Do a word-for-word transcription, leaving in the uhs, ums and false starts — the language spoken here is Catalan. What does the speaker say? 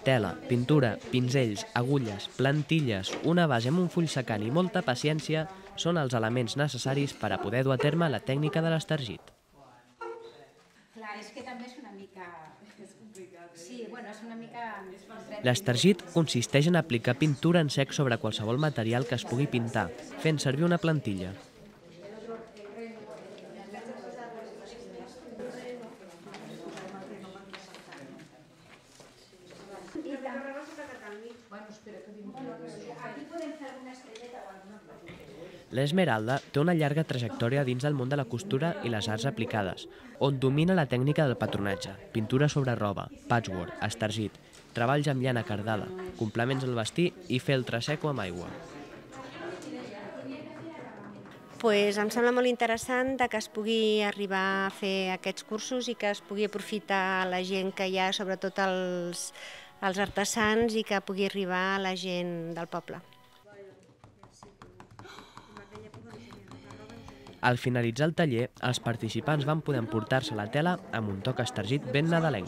Tela, pintura, pinzells, agulles, plantilles, una base amb un full secant i molta paciència són els elements necessaris per a poder dur a terme la tècnica de l'estargit. Clar, és que també és una mica... És complicat, eh? Sí, bueno, és una mica... L'estargit consisteix en aplicar pintura en sec sobre qualsevol material que es pugui pintar, fent servir una plantilla. L'Esmeralda té una llarga trajectòria dins del món de la costura i les arts aplicades, on domina la tècnica del patronatge, pintura sobre roba, patchwork, estargit, treballs amb llana cardada, complements al vestir i feltre seco amb aigua. Pues em sembla molt interessant que es pugui arribar a fer aquests cursos i que es pugui aprofitar la gent que hi ha, sobretot els, els artesans, i que pugui arribar a la gent del poble. Al finalitzar el taller, els participants van poder emportar-se la tela amb un toc estargit ben nadalenc.